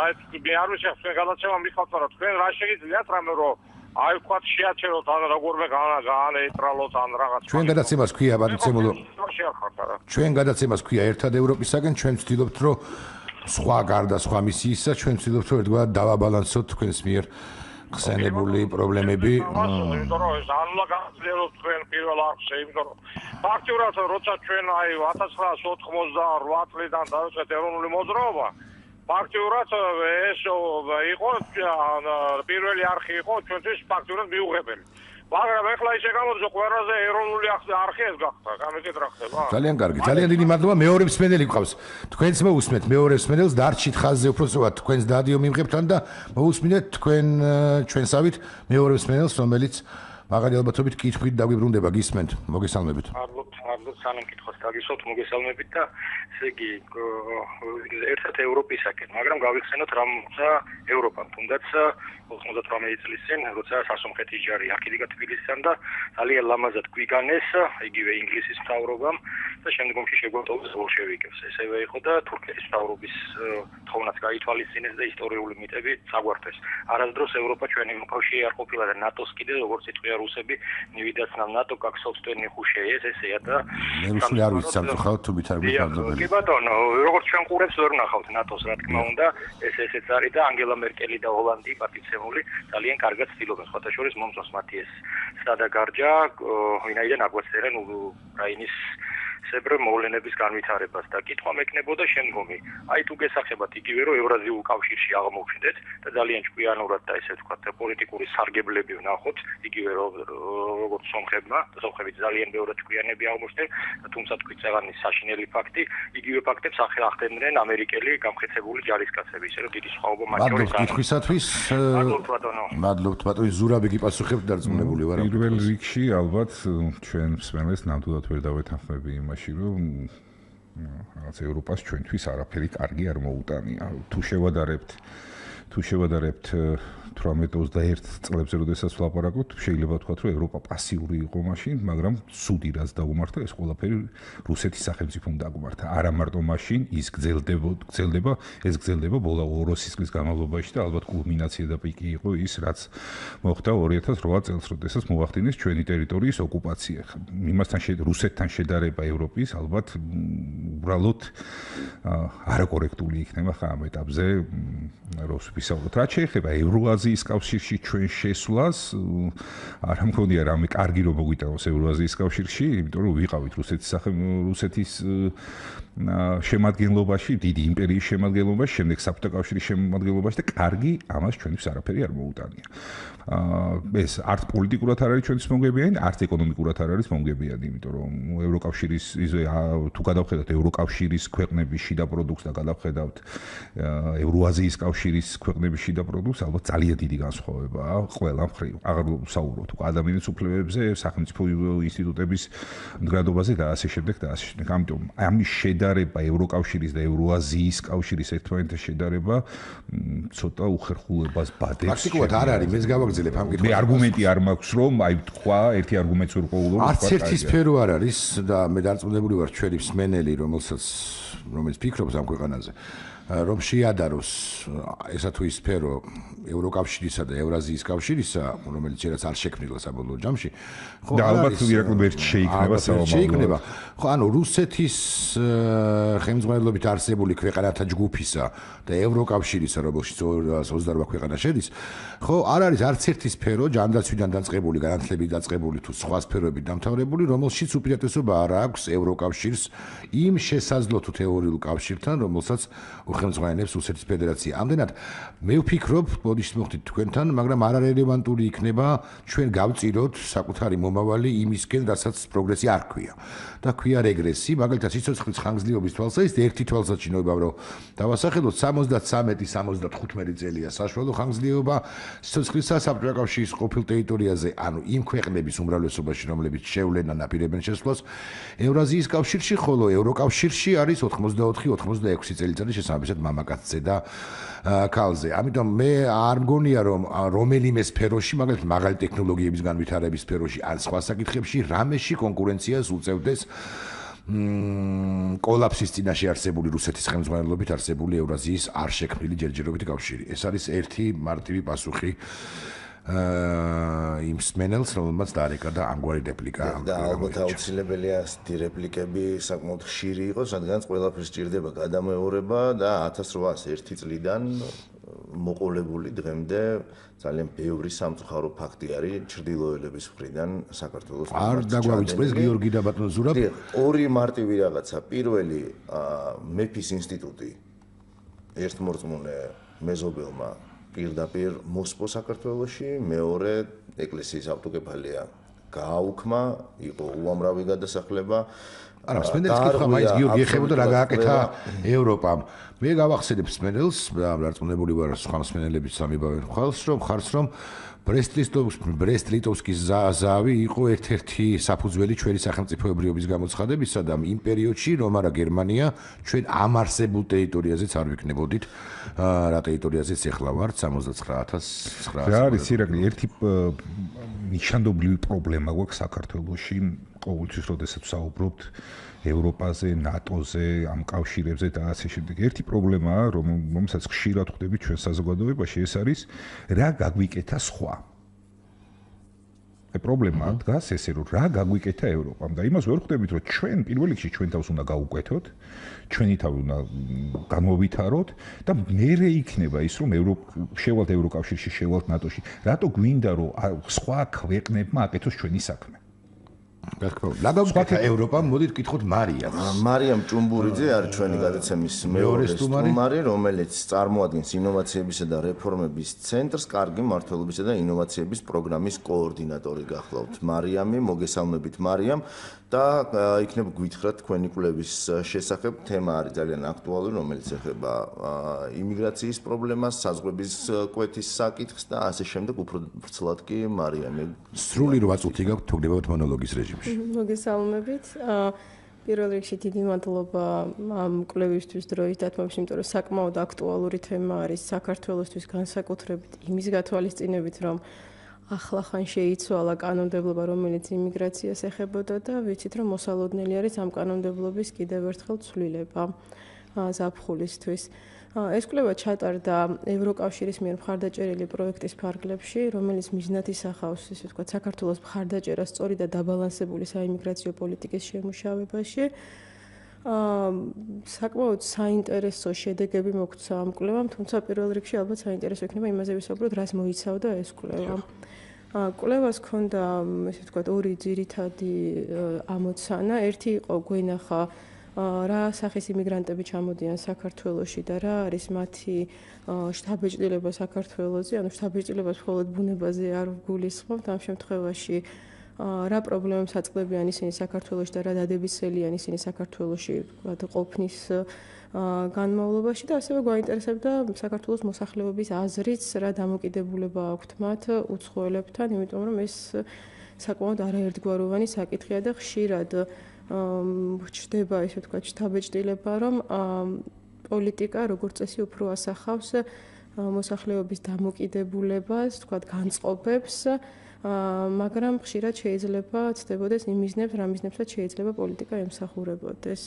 S5: აი მე არ ვიცი თქვენ გადაცემა მიხავთ რა თქვენ რა შეგიძლიათ რამე რომ აი ვთქვათ შეაჩეროთ ან როგორმე გაანეიტრალოთ ან რაღაც
S3: ჩვენ გადაცემას ქვია ბატონო ჩვენ გადაცემას ქვია ერთად ევროპისაგან ჩვენ ვცდილობთ რომ სხვა გარდა სხვა მისიისა ჩვენ ვცდილობთ რომ ერთგვარად დავაბალანსოთ თქვენს მიერ ხსენებული პრობლემები
S5: იმიტომ რომ ეს არ უნდა გაგძლიეროთ თქვენ პირველ არხზე იმიტომ რომ ფაქტურად როცა ჩვენ აი 1988 წლიდან დავიწყეთ ეროვნული მოძრაობა ფაქტურად ეს იყო პირველი არხი იყო ჩვენთვის ფაქტურად მიუღებელი მაგრამ ეხლა ისე გამოდის ყველაზე ეროვნული არხი ეს გახდა გამიგეთ რა ხდება
S3: ძალიან კარგი ძალიან დიდი მადლობა მეორე მსმენელი გყავს თქვენც მოусმენთ მეორე მსმენელს დარჩით ხაზზე უფრო სწორად თქვენს დადიო მიმღებთან და მოусმინეთ თქვენ ჩვენსავით მეორე მსმენელს რომელიც მაგარი ალბათობით კითხვით დაგვიბრუნდება გისმენთ მოგესალმებით
S6: მადლობთ სანამ კითხოს დაგისვათ მოგესალმებით და ესე იგი ერთად ევროპისაკენ მაგრამ გავიხსენოთ რა მოხდა ევროპამ თუნდაც 98 წლის წინ როცა სასომხეთის ჯარი აქედან თბილისიდან და ძალიან ლამაზად გვიგანეს იგივე ინგლისის მთავრობამ და შემდგომში შეგვატოვეს ბოლშევიკებს ესევე იყო და თურქეთის მთავრობის თხოვნაც გაითვალისწინეს და ისტორიული მიტები საგვარდეს არასდროს ევროპა ჩვენი მოკავშირე არ ყოფილა და ნატოს კიდე როგორც იტყვია რუსები ნივიდაც нам НАТО как собственный хуже ესეა და
S3: მე რუსული არ ვიცი სამწუხაროდ თუ მით არ გვიფარდობელი
S6: კი ბატონო როგორც ჩვენ ყურებს ვერ ვნახავთ ნატოს რა თქმა უნდა ესეც არის და ანგელა მერკელი და ჰოლანდი პატიცემული ძალიან კარგად ცდილობენ სხვათა შორის მომწონს მათი ეს სადა გარჯა ვინაიდან აგვაწერენ უკრაინის სებრ მოვლენების განვითარებას და კითხვა მეკნებოდა შემდგომი. აი თუ გესახებათ იგივე რომ ევრაზიულ კავშირში აღმოვჩნდეთ და ძალიან ჭკვიანურად და ესე ვთქვათ პოლიტიკური სარგებლები ვნახოთ იგივე როგორც სომხებმა და სომხები ძალიან ბევრად ჭკვიანები აღმოჩნდნენ თუმცა თქვით საღამის საშინელი ფაქტი იგივე ფაქტებს ახდენდნენ ამერიკელი გამხეცებული ჯარისკაცები ისე რომ დიდი სხვაობა მათ შორის
S3: არის. კითხვისათვის მადლობთ ბატონო ზურაბი გიპასუხებთ დარწმუნებული ვარ.
S4: პირველ რიგში ალბათ ჩვენ მსმენელს ნამდვილად ვერ დავეთანხმები იმაში რომ რაღაც ევროპას ჩვენთვის არაფერი კარგი არ მოუტანია. თუ შევადარებთ 18-21 წლებზე, როდესაც ვლაპარაკობთ, შეიძლება ვთქვათ, რომ ევროპა პასიური იყო მაშინ, მაგრამ სუდი რაც დაუმართა, ეს ყველაფერი რუსეთის სახელმწიფომ დაუმართა. არა მარტო მაშინ, ის გრძელდება ბოლა 200 წლის განმავლობაში და ალბათ კულმინაცია და პიკი იყო ის, რაც მოხდა 2008 წელს, როდესაც მოახდინეს ჩვენი ტერიტორიის ოკუპაცია. იმასთან რუსეთთან შედარება ევროპის ალბათ უბრალოდ არაკორექტული იქნება ხა ამ ეტაპზე როს ვისაუბროთ. რაც შეეხება ევროაზიის კავშირში ჩვენ შესვლას, არ მგონია რამე კარგი რომ მოგვიტანოს ევროაზიის კავშირში, იმიტომ რომ ვიყავით რუსეთის შემადგენლობაში, დიდი იმპერიის შემადგენლობაში, შემდეგ საბჭოთა კავშირის შემადგენლობაში და კარგი ამას ჩვენთვის არაფერი არ მოუტანია. ეს არც პოლიტიკურად არ არის ჩვენთვის მომგებიანი, არც ეკონომიკურად არ არის მომგებიანი, იმიტომ რომ ევროკავშირის თუ გადავხედავთ ევროკავშირის ქვეყნების შიდა პროდუქტს და გადავხედავთ ევროაზიის კავშირის ქვეყნების შიდა პროდუქტს, ალბათ ძალიან დიდი განსხვავებაა ყველა მხრივ. აღარ ვსაუბრობთ უკვე ადამიანის უფლებებზე, სახელმწიფო ინსტიტუტების მდგრადობაზე და ასე შემდეგ და ასე შემდეგ. ამიტომ ამის შედარება ევროკავშირის და ევროაზიის კავშირის ერთმანეთთან შედარება ცოტა უხერხულებას ბადებს.
S3: პრაქტიკულად არ არის, მეც გავაგზავნებ ამ კითხვას.
S4: მე არგუმენტი არ მაქვს რომ აი თქვა ერთი არგუმენტს ვერ პოულობ.
S3: არც ერთი სფერო არ არის და მე დარწმუნებული ვარ ჩვენი მსმენელი რომელიც ფიქრობს ამ ქვეყანაზე რომ შეადაროს ესა თუ ის სფერო ევროკავშირისა და ევრაზიის კავშირისა, რომელიც შეიძლება არ შექმნილა საბოლოო ჯამში,
S4: ხო და ალბათ ვერ შეიქმნება
S3: საომავლო. ხო, ანუ რუსეთის ხელმძღვანელობით არსებული ქვეყანათა ჯგუფისა და ევროკავშირისა, რომელშიც 228 ქვეყანა შედის, ხო, არ არის არც ერთი სფერო ჯანდაცვიდან დაწყებული, განათლებით დაწყებული თუ სხვა სფეროებით დამთავრებული, რომელშიც უპირატესობა არ აქვს ევროკავშირს იმ შესაძლო თუ თეორიულ კავშირთან, რომელსაც ხელმძღვანელობს რუსეთის ფედერაცია. ამდენად მე ვფიქრობ, ბოდიშს მოხდით თქვენთან, მაგრამ არარელევანტური იქნება ჩვენ გავწიროთ საკუთარი მომავალი იმისკენ, რასაც პროგრესი არ ქვია. და ქვია რეგრესი, მაგალითად სიცოცხლის ხანგრძლივობის თვალსაზრისით ერთი თვალსაჩინო ვიბავ რომ დავასახელოთ 73-75 წელია საშუალო ხანგრძლივობა სიცოცხლისა საბჭოთა კავშირის ყოფილ ტერიტორიაზე, ანუ იმ ქვეყნების უმრავლესობაში, რომლებიც შევლენან აპირებენ შესვლას ევრაზიის კავშირში, ხოლო ევროკავშირში არის 84-86 წელიწადი შესაბამისად მამაკაცზე და ქალზე. ამიტომ მე არ მგონია რომ რომელიმე სფეროში, მაგალითად მაღალი ტექნოლოგიების განვითარების სფეროში ან სხვა საკითხებში რამეში კონკურენციას უწევდეს კოლაფსის წინაშე არსებული რუსეთის ხელმძღვანელობით არსებული ევრაზიის არ შექმნილი ჯერჯერობით კავშირი. ეს არის ერთი მარტივი პასუხი იმ სმენელს, რომელმაც დაარეკა და ამგვარი რეპლიკა.
S2: და ალბათ აუცილებელია ასეთი რეპლიკები საკმაოდ ხშირი იყოს, რადგანაც ყველაფერს სჭირდება გადამეორება და 1801 წლიდან მოყოლებული დღემდე ძალიან ბევრი სამწუხარო ფაქტი არის ჩრდილოელების მხრიდან საქართველოს.
S3: არ დაგვავიწყდეს გიორგი და ბატონ ზურაბ.
S2: ორი მარტივი რაღაცა. პირველი მეფის ინსტიტუტი ერთმორწმუნე მეზობელმა პირდაპირ მოსპო საქართველოში, მეორე ეკლესიის ავტოკეფალია გააუქმა, იყო უამრავი გადასახლება.
S3: არა, სმენელს კითხვა მაინც გიორგი ეხებოდა რა გააკეთა ევროპამ. მე გავახსენებ სმენელს, რარწმუნებული ვარ სხვა სმენელების სამიბავენ ხარს რომ ბრესტ-ლიტოვსკის ზავი იყო ერთ-ერთი საფუძველი ჩვენი სახელმწიფოებრიობის გამოცხადებისა და იმ პერიოდში რომ არა გერმანია ჩვენ ამ არსებულ ტერიტორიაზეც არ ვიქნებოდით რა ტერიტორიაზეც ეხლა ვართ 69900.
S4: რა არის ირაკლი ერთი ნიშანდობლივი პრობლემა გვაქვს საქართველოში ყოველთვის როდესაც საუბრობთ ევროპაზე, ნატოზე, ამ კავშირებზე და ასე შემდეგ. ერთი პრობლემაა, რომელსაც ხშირად ხვდებით ჩვენ საზოგადოებაში, ეს არის რა გაგვიკეთა სხვა. პრობლემა დგას ესე, რომ რა გაგვიკეთა ევროპამ და იმას ვერ ხვდებით, რომ ჩვენ პირველ რიგში ჩვენ თავს უნდა გავუკვეთოთ, ჩვენი თავი უნდა განმოვითაროთ და მერე იქნება ის, რომ შევალთ ევროკავშირში, შევალთ ნატოში. რატო გვინდა, რომ სხვა ქვეყნებმა აკეთოს ჩვენი საქმე?
S3: რა გაგვიკეთა ევროპამ? მოდით ვკითხოთ მარიამს.
S2: მარიამ ჭუმბურიძე არის ჩვენი გადაცემის მეორე სტუმარი, რომელიც წარმოადგენს ინოვაციებისა და რეფორმების ცენტრს, კარგი მმართველობისა და ინოვაციების პროგრამის კოორდინატორი გახლავთ. მარიამი, მოგესალმებით მარიამ და იქნებ გვითხრათ თქვენი კვლევის შესახებ. თემა არის ძალიან აქტუალური, რომელიც ეხება იმიგრაციის პრობლემას, საზღვრების კვეთის საკითხს და ასე შემდეგ. უფრო ვრცლად კი მარიამი.
S3: სრული 8 წუთი გაქვთ თოგდებათ მონოლოგის რეჟიმში.
S7: მოგესალმებით. პირველ რიგში დიდი მადლობა ამ კვლევისთვის დროის დათმობისთვის, იმიტომ რომ საკმაოდ აქტუალური თემა არის საქართველოსთვის განსაკუთრებით იმის გათვალისწინებით, რომ ახლახან შეიცვალა კანონმდებლობა, რომელიც იმიგრაციას ეხებოდა და ვიცით, რომ მოსალოდნელი არის ამ კანონმდებლობის კიდევ ერთხელ ცვლილება ზაფხულისთვის. ეს კვლევა ჩატარდა ევროკავშირის მიერ მხარდაჭერილი პროექტის ფარგლებში, რომელიც მიზნად ისახავს, ისე ვთქვათ, საქართველოს მხარდაჭერას სწორი და დაბალანსებული საიმიგრაციო პოლიტიკის შემუშავებაში. საკმაოდ საინტერესო შედეგები მოგვცა ამ კვლევამ, თუმცა პირველ რიგში ალბათ საინტერესო იქნება იმაზე ვისაუბროთ, რას მოიცავდა ეს კვლევა. კვლევას ჰქონდა, ესე ვთქვათ, ორი ძირითადი ამოცანა. ერთი იყო გვენახა რა სახის იმიგრანტები ჩამოდიან საქართველოში და რა არის მათი შთაბეჭდილება საქართველოზე, ანუ შთაბეჭდილებას მხოლოდ ბუნებაზე არ ვგულისხმობთ, ამ შემთხვევაში რა პრობლემებს აწყდებიან ისინი საქართველოში და რა დადებისელიან ისინი საქართველოში ყოფნის განმავლობაში და ასევე გვაინტერესებდა საქართველოს მოსახლეობის აზრიც, რა დამოკიდებულება აქვთ მათ უცხოელებთან, იმიტომ რომ ეს საკმაოდ არაერთგვაროვანი საკითხია და ხშირად ჩდება, ესე ვთქვათ, შთაბეჭდილება, რომ პოლიტიკა როგორც წესი უფრო ასახავს მოსახლეობის დამოკიდებულებას, ვთქვათ, განწყობებს, მაგრამ ხშირად შეიძლება ცდებოდეს იმ მიზნებს, რა მიზნებსაც შეიძლება პოლიტიკა ემსახურებოდეს.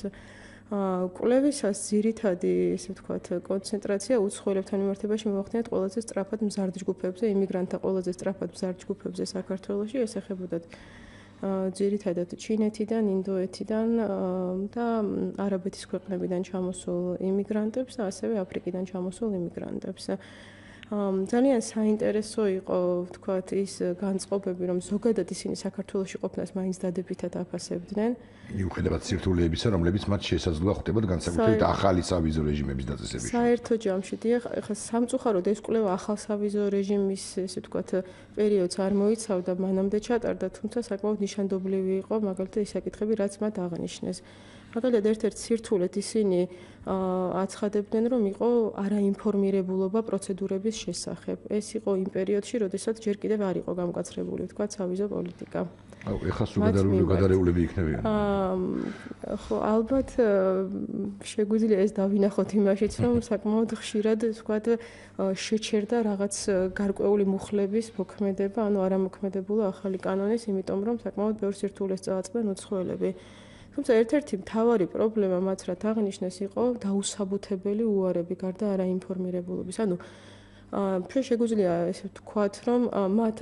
S7: კვლევისას ძირითადი, ესე ვთქვათ, კონცენტრაცია უცხოელებთან მიმართებაში მოახდინეთ ყველაზე სწრაფად მზარდ ჯგუფებზე, იმიგრანტთა ყველაზე სწრაფად მზარდ ჯგუფებზე საქართველოში, ეს ეხებოდათ ძირითადად ჩინეთიდან, ინდოეთიდან და არაბეთის ქვეყნებიდან ჩამოსულ იმიგრანტებს და ასევე აფრიკიდან ჩამოსულ იმიგრანტებს. ძალიან საინტერესო იყო, ვთქვათ, ის განწყობები, რომ ზოგადად ისინი საქართველოში ყოფნას მაინც დადებითად აფასებდნენ.
S3: მიუხედავად სირთულეებისა, რომლებიც მათ შესაძლოა ხვდებოდ განსაკუთრებით ახალი სავიზო რეჟიმების დაწესებაში.
S7: საერთო ჯამში, ეხლა სამწუხაროდ ეს კვლევა ახალ სავიზო რეჟიმის, ესე ვთქვათ, პერიოდს არ მოიცავდა, მანამდე ჩატარდა, თუმცა საკმაოდ ნიშანდობლივი იყო, მაგალითად, ის საკითხები, რაც მათ აღნიშნეს. მაგალითად, ერთ-ერთ სირთულედ ისინი აცხადებდნენ, რომ იყო არაინფორმირებულობა პროცედურების შესახებ. ეს იყო იმ პერიოდში, როდესაც ჯერ კიდევ არ იყო გამკაცრებული, ვთქვათ, სავიზო პოლიტიკა.
S3: ეხლა სულ გადარეულები იქნებიან.
S7: ხო, ალბათ შეგვიძლია ეს დავინახოთ იმაშიც, რომ საკმაოდ ხშირად, ვთქვათ, შეჩერდა რაღაც გარკვეული მუხლების მოქმედება, ანუ არამოქმედებულა ახალი კანონის, იმიტომ რომ საკმაოდ ბევრ სირთულეს წააწყდნენ უცხოელები. თუმცა ერთ-ერთი მთავარი პრობლემა მათ რაც აღნიშნეს იყო დაუსაბუთებელი უარები გარდა არაინფორმირებულობის. ანუ ჩვენ შეგვიძლია ესე ვთქვათ, რომ მათ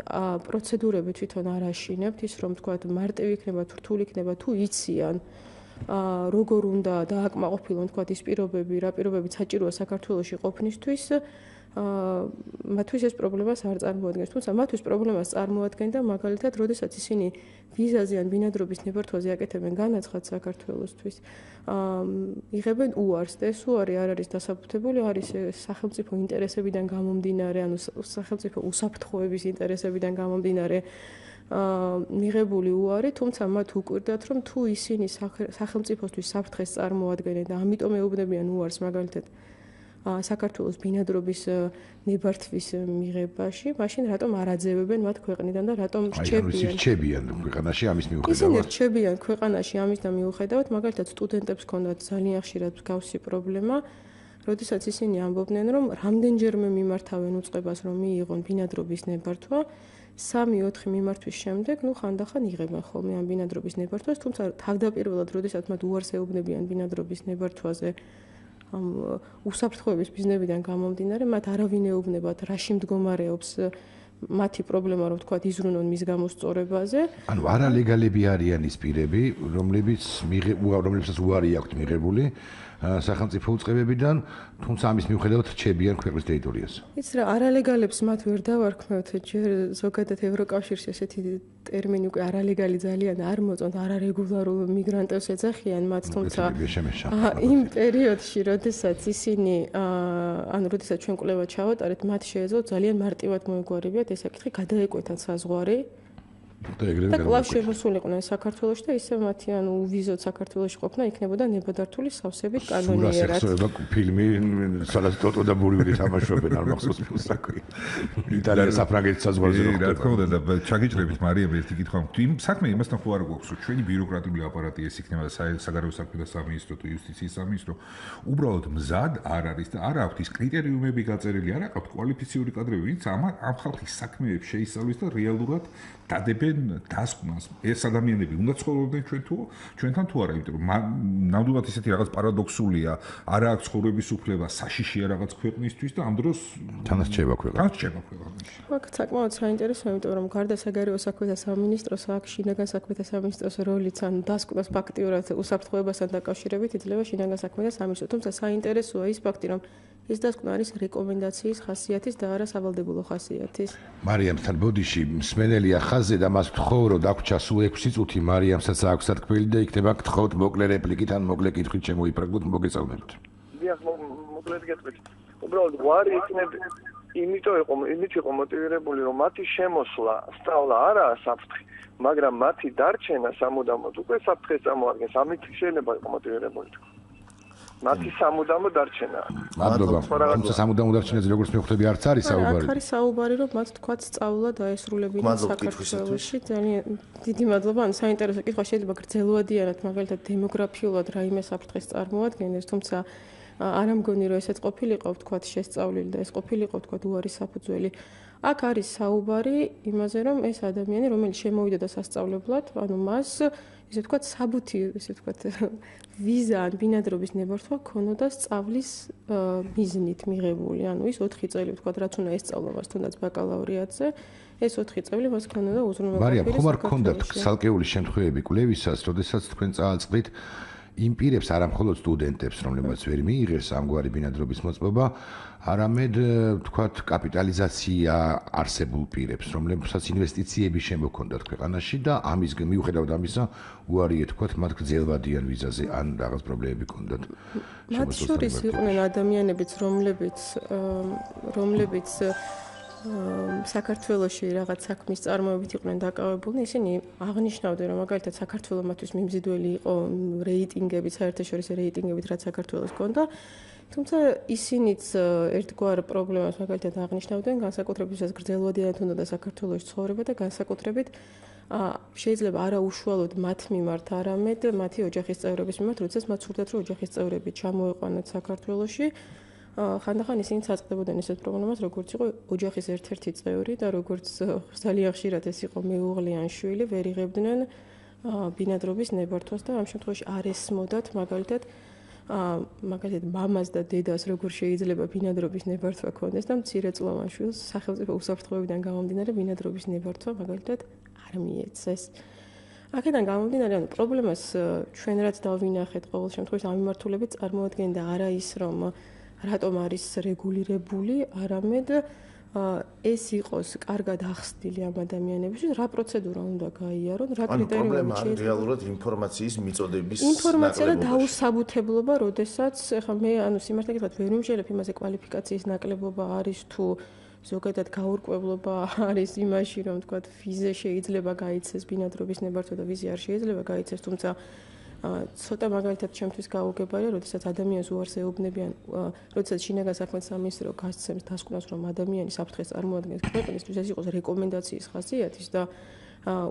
S7: პროცედურები თვითონ არ აშინებთ, ის რომ ვთქვათ, მარტივი იქნება, რთული იქნება, თუ იციან როგორ უნდა დააკმაყოფილონ ვთქვათ ის პირობები, რა პირობებიც საჭიროა საქართველოში ყოფნისთვის, მათთვის ეს პრობლემას არ წარმოადგენს. თუმცა მათთვის პრობლემას წარმოადგენდა მაგალითად, როდესაც ისინი ვიზაზე ან ბინადრობის ნებართვაზე აკეთებენ განაცხადს საქართველოსთვის, იღებენ უარს და ეს უარი არ არის დასაბუთებული, არის სახელმწიფო ინტერესებიდან გამომდინარე, ანუ სახელმწიფო უსაფრთხოების ინტერესებიდან გამომდინარე მიღებული უარი, თუმცა მათ უკვირდათ, რომ თუ ისინი სახელმწიფოსთვის საფრთხეს წარმოადგენენ და ამიტომ ეუბნებიან უარს მაგალითად საქართველოს ბინადრობის ნებართვის მიღებაში, მაშინ რატომ არ აძევებენ მათ ქვეყნიდან და რატომ
S3: რჩებიან ქვეყანაში ამის მიუხედავად?
S7: ისინი რჩებიან ქვეყანაში ამის და მიუხედავად, მაგალითად სტუდენტებს ჰქონდათ ძალიან ხშირად მსგავსი პრობლემა, როდესაც ისინი ამბობდნენ, რომ რამდენჯერმე მიმართავენ უწყებას, რომ მიიღონ ბინადრობის ნებართვა, 3-4 მიმართვის შემდეგ, ხანდახან იღებენ ხოლმე ამ ბინადრობის ნებართვას, თუმცა თავდაპირველად, როდესაც მათ უარს ეუბნებიან ბინადრობის ნებართვაზე, უსაფრთხოების მიზნებიდან გამომდინარე, მათ არავინ ეუბნებათ, რაში მდგომარეობს მათი პრობლემა, რომ ვთქვათ, იზრუნონ მის გამოსწორებაზე.
S3: ანუ არალეგალები არიან ის პირები, რომლებსაც უარი აქვთ მიღებული სახელმწიფო უწყებებიდან, თუმცა ამის მიუხედავად რჩებიან ქვეყნის ტერიტორიაზე.
S7: იცი რა, არალეგალებს მათ ვერ დავარქმევთ, ჯერ ზოგადად ევროკავშირში ესეთი ტერმინი უკვე არალეგალი ძალიან არ მოწონთ, არარეგულარულ მიგრანტებს ეძახიან მათ, თუმცა იმ პერიოდში, როდესაც ისინი, როდესაც ჩვენ კვლევა ჩავატარეთ, მათ შეეძლოთ ძალიან მარტივად მოეგვარებიათ ეს საკითხი, გადაეკვეთათ საზღვარი. და კლავ შემოსულიყვნენ საქართველოში და ისე მათი ვიზოთ საქართველოში ყოფნა იქნებოდა ნებადართული სავსებით კანონიერად.
S3: სურასახსოვება ფილმი სადაც ტოტო და ბურიული თამაშობენ არ მახსოვს ფილმსაკი. იტალია საფრანგეთის საზღვარზე
S4: ხდება. რა თქმა უნდა და ჩაგიჭრებით მარიამ ერთი კითხვა. საქმე იმასთან ხო არ გვაქვს, რომ ჩვენი ბიუროკრატიული აპარატი ეს იქნება საგარეო საქმეთა სამინისტრო თუ იუსტიციის სამინისტრო უბრალოდ მზად არ არის და არ აქვს ის კრიტერიუმები გაწერილი, არ აქვს კვალიფიციური კადრები, ვინც ამ ხალხის საქმეებს შეისწავლის და რეალურად დადებენ დასკვნას. ეს ადამიანები უნდა ცხოვრობდნენ ჩვენთან თუ არა, იმიტომ რომ ნამდვილად ისეთი რაღაც პარადოქსულია, არ აქვს ცხოვრების უფლება, საშიშია რაღაც ქვეყნისთვის და ამ დროს
S3: თანასწორება ქვეყანაში.
S7: აქ საკმაოდ საინტერესოა, იმიტომ რომ გარდა საგარეო საქმეთა სამინისტროს, აქ შინაგან საქმეთა სამინისტროს როლიც დასკვნას ფაქტიურად უსაფრთხოებასთან დაკავშირებით იძლევა შინაგან საქმეთა სამინისტრო. თუმცა საინტერესოა ის ფაქტი, რომ ეს დასკვნა არის რეკომენდაციის ხასიათის და არა სავალდებულო ხასიათის.
S3: მარიამთან ბოდიში მსმენელია ხაზზე და მას ვთხოვ, რომ დაგვრჩა სულ 6 წუთი მარიამსაც აქვს სათქმელი და იქნება გთხოვთ მოკლე რეპლიკით ან მოკლე კითხვით შემოიფრაგოთ, მოგესალმებით.
S8: დიახ, მოკლედ გეტყვით. უბრალოდ ვარი იმით იყო მოტივირებული, რომ მათი შემოსვლა, სწავლა არაა საფრთხე, მაგრამ მათი დარჩენა სამუდამოდ უკვე საფრთხეს წარმოადგენს. ამით შეიძლება იყო მოტივირებული. მათი სამუდამო დარჩენა.
S3: მადლობა. თუმცა სამუდამო დარჩენაზე როგორც მივხვდები არც არის საუბარი.
S7: აქ არის საუბარი, რომ მათ თქვათ სწავლა დაესრულებინა საქართველოში. ძალიან დიდი მადლობა. საინტერესო კითხვა შეიძლება გრძელვადიანად, მაგალითად დემოგრაფიულად რაიმე საფრთხეს წარმოადგენს, თუმცა არ ამგონი რომ ესეც ყოფილიყო თქვათ შესწავლილი და ეს ყოფილიყო თქვათ უარი საფუძველი. აქ არის საუბარი იმაზე, რომ ეს ადამიანი, რომელიც შემოვიდა და სასწავლებლად, მას ისე ვთქვათ, საბუთი, ისე ვთქვათ, ვიზა ან ბინადრობის ნებართვა ქონოდა სწავლის მიზნით მიღებული. ის 4 წელი ვთქვათ, რაც უნდა ესწავლა მას თუნდაც ბაკალავრიატზე, ეს 4 წელი მას ქონოდა უზრუნველყოფილი.
S3: მარიამ, ხომ არ გქონდათ ცალკეული შემთხვევები კვლევისას, როდესაც თქვენ წააწყდით იმ პირებს, არა მხოლოდ სტუდენტებს, რომლებმაც ვერ მიიღეს ამგვარი ბინადრობის მოწყობა, არამედ ვთქვათ, კაპიტალიზაცია არსებულ პირებს, რომლებსაც ინვესტიციები შემოქონდათ ქვეყანაში და ამის მიუხედავად ამისა, უარი ეთქვათ, მათ გრძელვადიან ვიზაზე ან რაღაც პრობლემები ჰქონდათ.
S7: მათ შორის იყვნენ ადამიანებიც, რომლებიც საქართველოში რაღაც საქმის წარმოებით იყვნენ დაკავებულნი, ისინი აღნიშნავდნენ, რომ მაგალითად საქართველოს მათთვის მიმზიდველი იყო რეიტინგებით, საერთაშორისო რეიტინგებით, რაც საქართველოს ჰქონდა. თუმცა ისინიც ერთგვარ პრობლემას მაგალითად აღნიშნავდნენ, განსაკუთრებით ვისაც გრძელვადიანად უნდა საქართველოში ცხოვრება და განსაკუთრებით შეიძლება არა უშუალოდ მათ მიმართ, არამედ მათი ოჯახის წევრების მიმართ, როდესაც მათ სურდათ, რომ ოჯახის წევრები ჩამოეყვანათ საქართველოში. ხანდახან ისინი წაწყდებოდნენ ესეთ პრობლემას, როგორც იყო ოჯახის ერთ-ერთი წევრი და როგორც ძალიან ხშირად ეს იყო მეუღლე ან შვილი, ვერ იღებდნენ ბინადრობის ნებართვას და ამ შემთხვევაში არ ესმოდათ მაგალითად მაგალითად მამას და დედას როგორ შეიძლება ბინადრობის ნებართვა ქონდეს და მცირეწლოვან შვილს სახელმწიფო უსაფრთხოებიდან გამომდინარე ბინადრობის ნებართვა მაგალითად არ მიეცეს. აქედან გამომდინარე, ანუ პრობლემას ჩვენ რაც დავინახეთ ყოველ შემთხვევაში ამ მიმართულებით წარმოადგენდა არა ის, რომ რატომ არის რეგულირებული, არამედ ეს იყოს კარგად ახსნილი ამ ადამიანებისთვის, რა პროცედურა უნდა გაიარონ, რა კრიტერიუმები
S2: შეიძლება. ანუ რეალურად ინფორმაციის მიწოდების
S7: ინფორმაცია და დაუსაბუთებლობა, როდესაც ახლა მე სიმართლე გითხრათ, ვერ ვიმჯერებ იმაზე კვალიფიკაციის ნაკლებობა არის თუ ზოგადად გაურკვევლობა არის იმაში, რომ თქვა ვიზე შეიძლება გაიცეს ბინადრობის ნებართვა და ვიზი არ შეიძლება გაიცეს, თუმცა ცოტა მაგალითად ჩემთვის გაუგებარია, როდესაც ადამიანს უარს ეუბნებიან, როდესაც შინაგან საქმეთა სამინისტრო გასცემს დასკვნას, რომ ადამიანი საფრთხეს წარმოადგენს ქვეყნისთვის, ეს იყოს რეკომენდაციის ხასიათის და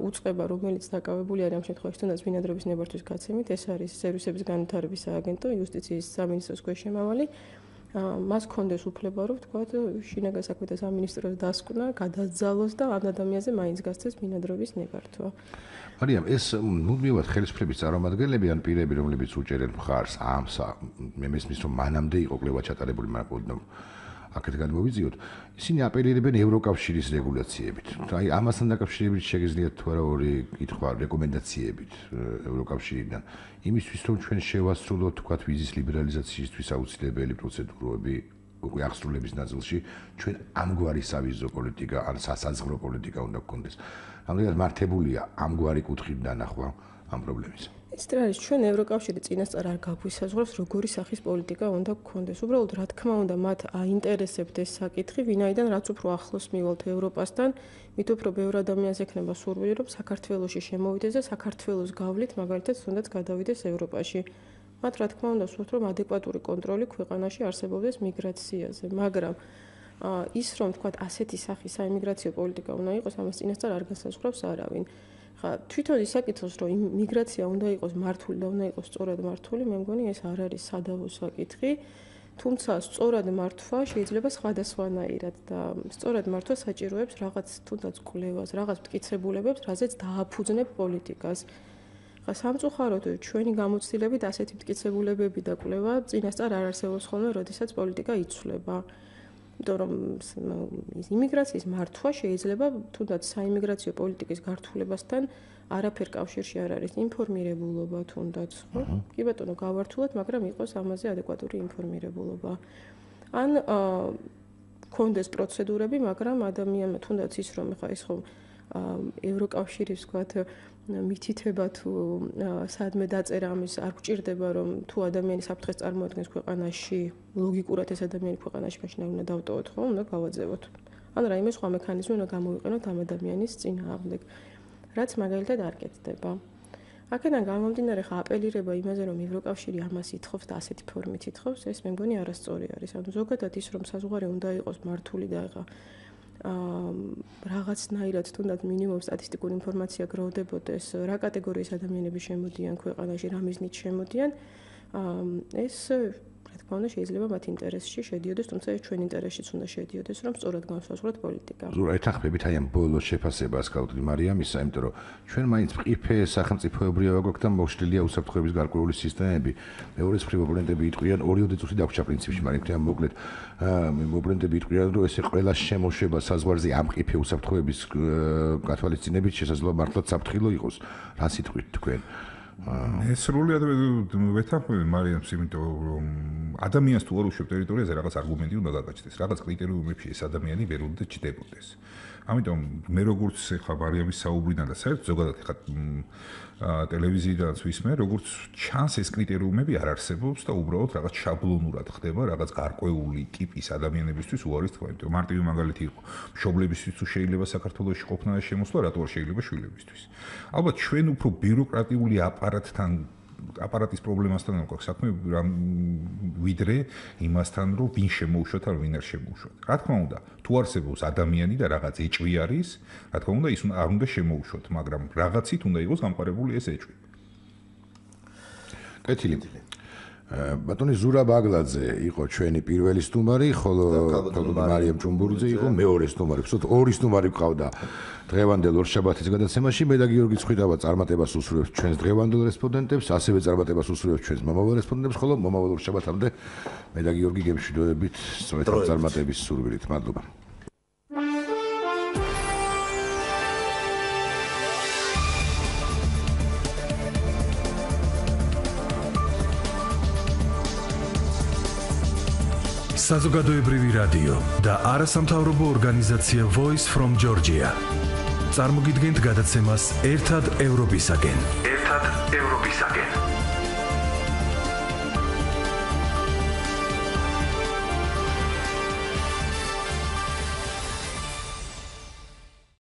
S7: უწყება, რომელიც დაკავებული არის ამ შემთხვევაში თუნდაც ბინადრობის ნებართვის გაცემით, ეს არის სერვისების განვითარების სააგენტო, იუსტიციის სამინისტროს ქვეშემავალი. მას კონდეს უფლება, რომ თქვა შინაგან საქმეთა სამინისტროს დასკვნა გადაძალოს და ამ ადამიანზე მაინც გასცეს ბინადრობის ნებართვა.
S3: მარიამ, ეს მუდმივად ხელისუფლების წარმომადგენლები ან პირები, რომლებიც უჭერენ მხარს ამ მე მესმის, რომ მანამდე იყო კვლევა ჩატარებული, მაგრამ აქეთ გადმოვიძიოთ, ისინი აპელირებენ ევროკავშირის რეგულაციებით. აი, ამასთან დაკავშირებით შეგიძლიათ თუ არა ორი კითხვა რეკომენდაციებით ევროკავშირიდან. იმისთვის, რომ ჩვენ შევასრულოთ, თქვათ, ვიზის ლიბერალიზაციისთვის აუცილებელი პროცედურები უკვე აღსრულების ნაწილში, ჩვენ ამგვარი სავიზო პოლიტიკა ან სასაზღვრო პოლიტიკა უნდა გქონდეს. რამოდენად მართებულია ამგვარი კუთხით დანახვა ამ პრობლემის.
S7: ეს არის ჩვენ ევროკავშირი წინასწარ არ გაგვისაზღვრავს როგორი სახის პოლიტიკა უნდა გქონდეს. უბრალოდ რა თქმა უნდა მათ აინტერესებთ ეს საკითხი, ვინაიდან რაც უფრო ახლოს მივალთ ევროპასთან, მით უფრო ბევრ ადამიანს ექნება სურვილი, რომ საქართველოში შემოვიდეს და საქართველოს გავლით მაგალითად თუნდაც გადავიდეს ევროპაში. მათ რა თქმა უნდა სურთ, რომ ადეკვატური კონტროლი ქვეყანაში არსებობდეს მიგრაციაზე, მაგრამ ის რომ თქვა ასეთი სახის საიმიგრაციო პოლიტიკა უნდა იყოს, ამას წინასწარ არ გასაზღვრავს არავინ. ხა თვითონ ისაკითხოს, რომ მიგრაცია უნდა იყოს მართული და უნდა იყოს სწორად მართული, მე მგონი ეს არ არის სადავო საკითხი, თუმცა სწორად მართვა შეიძლება სხვადასხვანაირად და სწორად მართვა საჭიროებს რაღაც თუნდაც კვლევას, რაღაც მტკიცებულებებს, რაზეც დააფუძნებ პოლიტიკას. ხა სამწუხაროდ ჩვენი გამოცდილებით ასეთი მტკიცებულებები და კვლევა წინასწარ არ არსებობს ხოლმე, როდესაც პოლიტიკა იცვლება. იმიტომ რომ იმიგრაციის მართვა შეიძლება თუნდაც საიმიგრაციო პოლიტიკის გართულებასთან არაფერ კავშირში არ არის ინფორმირებულობა თუნდაც, ხო? კი ბატონო, გავართულად, მაგრამ იყოს ამაზე ადეკვატური ინფორმირებულობა. ან კონდეს პროცედურები, მაგრამ ადამიანმა თუნდაც ის რომ ხა ის ხომ ევროკავშირის ვთქვათ მითითება თუ სადმე დაწერა ამის არ გვჭირდება რომ თუ ადამიანი საფრთხეს წარმოადგენს ქვეყანაში ლოგიკურად ეს ადამიანი ქვეყანაში მაშინ არ უნდა დავტოვოთ ხო უნდა გავაძევოთ ან რაიმე სხვა მექანიზმი უნდა გამოვიყენოთ ამ ადამიანის წინააღმდეგ რაც მაგალითად არ კეთდება აქედან გამომდინარე ხა აპელირება იმაზე რომ ევროკავშირი ამას ითხოვს და ასეთი ფორმით ითხოვს ეს მე მგონი არასწორი არის ანუ ზოგადად ის რომ საზღვარი უნდა იყოს მართული და ხა რაღაცნაირად თუნდაც მინიმუმ სტატისტიკური ინფორმაცია გროვდებოდეს რა კატეგორიის ადამიანები შემოდიან ქვეყანაში რა მიზნით შემოდიან ეს რა თქმა უნდა შეიძლება მათ ინტერესში შედიოდეს თუმცა ეს ჩვენ ინტერესშიც უნდა შედიოდეს რომ სწორად განსაზღვროთ პოლიტიკა. ეთანხმებით
S3: აი ამ ბოლოს შეფასებას გავუდგი მარიამისა, იმიტომ რომ ჩვენ მაინც მყიფე სახელმწიფოებრივია გვაქვს და მოშლილია უსაფრთხოების გარკვეული სისტემები. მეორე მხრივ ოპონენტები იტყვიან 2 წუთი დაგვრჩა პრინციპში, მაგრამ თქვენ მოკლედ ოპონენტები იტყვიან რომ ესე ყველა შემოშვება საზღვარზე ამ მყიფე უსაფრთხოების გათვალისწინებით შესაძლოა მართლაც საფრთხილო იყოს. რა სიტყვით თქვენ?
S4: ეს სრულიად ვეთანხმები მარიამს, იმიტომ რომ ადამიანს თუ არ უშვებ ტერიტორიაზე რაღაც არგუმენტი უნდა გაგაჩნდეს, რაღაც კრიტერიუმებში ეს ადამიანი ვერ უნდა ჩდებოდეს. ამიტომ მე როგორც ხა მარიამის საუბრიდან და საერთოდ ზოგადად ხა ტელევიზიიდანაც ვისმე, როგორც ჩანს ეს კრიტერიუმები არ არსებობს და უბრალოდ რაღაც შაბლონურად ხდება რაღაც გარკვეული ტიპის ადამიანებისთვის უარის თქვა. იმიტომ მარტივი მაგალითი იყო, მშობლებისთვის თუ შეიძლება საქართველოში ყოფნა და შემოსვლა, რატო არ შეიძლება შვილებისთვის. ალბათ ჩვენ უფრო ბიუროკრატიული აპარატის პრობლემასთან გვაქვს საქმე, ვიდრე იმასთან, რომ ვინ შემოუშვათ ან ვინ არ შემოუშვათ. რა თქმა უნდა, თუ არსებობს ადამიანი და რაღაც ეჭვი არის, რა თქმა უნდა, ის არ უნდა შემოუშვათ, მაგრამ რაღაცით უნდა იყოს გამყარებული ეს ეჭვი.
S3: კეთილი. ბატონი ზურა ბაგლაძე იყო ჩვენი პირველი სტუმარი, ხოლო მარიამ ჭუმბურიძე იყო მეორე სტუმარი. ვთქვათ, ორი სტუმარი გვყავდა დღევანდელ ორშაბათის გადაცემაში. მე და გიორგი ცხვითავა წარმატებას უსურვებს ჩვენს დღევანდელ რესპონდენტებს, ასევე წარმატებას უსურვებს ჩვენს მომავალ რესპონდენტებს, ხოლო მომავალ ორშაბათამდე მე და გიორგი გემშვიდობებით სწორედ წარმატების სურვილით. მადლობა.
S1: საზოგადოებრივი რადიო და არასამთავრობო ორგანიზაცია Voice from Georgia. წარმოგიდგენთ გადაცემას ერთად ევროპისაკენ.